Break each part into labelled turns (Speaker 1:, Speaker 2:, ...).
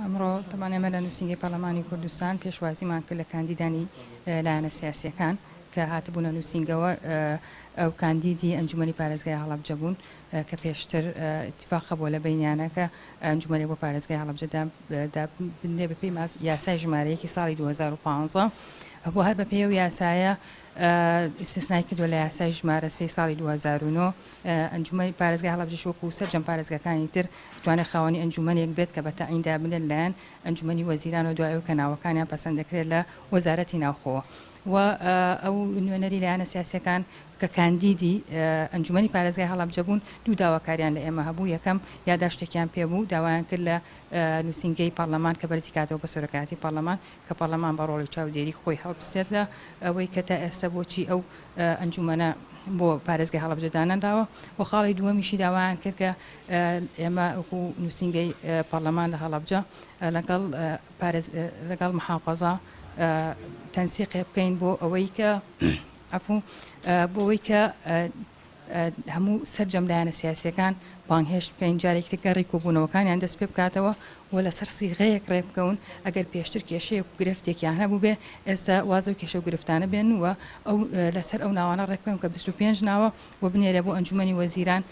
Speaker 1: ئەمڕۆ تەبعەن ئێمە لە نووسینگەی پەرلەمانی کوردستان پێشوازیمان کرد لە کاندیدانی لایەنە سیاسییەکان کە هاتبوونە نووسینگەوە، ئەو کاندیدی ئەنجومەنی پارێزگای هەڵەبجە بوون کە پێشتر ئیتفاق هەبووە لە بەینیانە کە ئەنجومەنێک بۆ پارێزگای هەڵەبجە دابنرێ بەپێی یاسای ژمارە یەکی ساڵی 2015 بۆ هەر بەپێی ئەو یاسایە ئیستسنای کردووە لە یاسای ژمارە سێی ساڵی 2009. ئەنجومەنی پارێزگای هەڵەبجەش وەکو سەرجەم پارێزگاکانی تر دەتوانێت خاوەنی ئەنجومەنێک بێت کە بە تەعین دابنرێت لەلایەن ئەنجومەنی وەزیرانەوە دوای ئەوەی کە ناوەکانیان پەسەند دەکرێت لە وەزارەتی ناوخۆوە و ئەو نوێنەری لایەنە سیاسیەکان کە کاندیدی ئەنجومەنی پارێزگای هەڵەبجە بوون دوو داواکاریان لە ئێمە هەبوو، یەکەم یاداشتێکیان پێ بوو داوایان کرد لە نووسینگەی پەڕلەمان کە بەرزی کاتەوە بە سەرۆکایەتی پەڕلەمان کە پەڕلەمان بە ڕۆڵی چاودێری خۆی هەڵبستێت لە ئەوەی کە تا ئێستا بۆچی ئەو ئەنجومەنە بۆ پارێزگای هەڵەبجە دانەنراوە و خاڵی دووەمیشی داوایان کرد کە ئێمە وەکو نووسینگەی پەڕلەمان لە هەڵەبجە لەگەڵ پارێز لەگەڵ محافەزە تەنسیقێ بکەین بۆ ئەوەی کە عەفوو بۆ ئەوەی کە هەموو سەرجەم لایەنە سیاسییەکان بانگهێشت بکەین، جارێکی تر گەڕی کۆبوونەوەکانیان دەست پێ بکاتەوە و لەسەر سیغەیەک ڕێ بکەون، ئەگەر پێشتر کێشەیەک و گرفتێکیان هەبووبێ ئێستا واز لەو کێشە و گرفتانە بێنن و ئەو لەسەر ئەو ناوانە ڕێک بکەون کە 25 ناوە و بنێرێ بۆ ئەنجومەنی وەزیران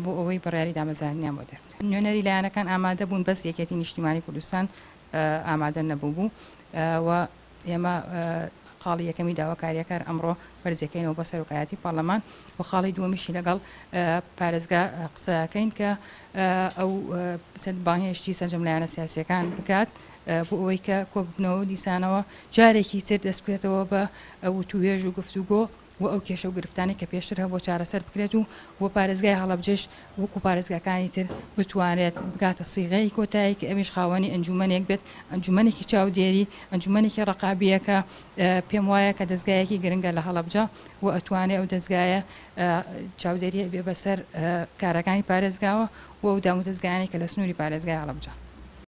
Speaker 1: بۆ ئەوەی بڕیاری دامەزراندنیان بۆ دەربکرێت. نوێنەری لایەنەکان ئامادە بوون بەس یەکێتی نیشتیمانی کوردستان ئامادە نەبووبوو و ئێمە خاڵی یەکەمی داواکارییەکان ئەمڕۆ بەرزیەکەینەوە بۆ سەرۆکایەتی پەڕلەمان و خاڵی دووەمیشی لەگەڵ پارێزگا قسەکەین کە ئەو بانگهێشتی سەرجەم لایەنە سیاسیەکان بکات بۆ ئەوەی کە کۆببنەوە دیسانەوە جارێکی تر دەست بکرێتەوە بە وتووێژ و گفتوگۆ و ئەو کێشە و گرفتانەی کە پێشتر هەبووە چارەسەر بکرێت و و پارێزگای هەڵەبجەش وەکو پارێزگاکانی تر بتوانرێت بگاتە سیغەی کۆتایی کە ئەویش خاوەنی ئەنجومەنێک بێت، ئەنجومەنێکی چاودێری، ئەنجومەنێکی ڕەقابییە کە پێم وایە کە دەزگایەکی گرنگە لە هەڵەبجە و ئەتوانێ ئەو دەزگایە چاودێری بێ بەسەر کارەکانی پارێزگاوە و ئەو دامودەزگایانەی کە لە سنووری پارێزگای هەڵەبجەن.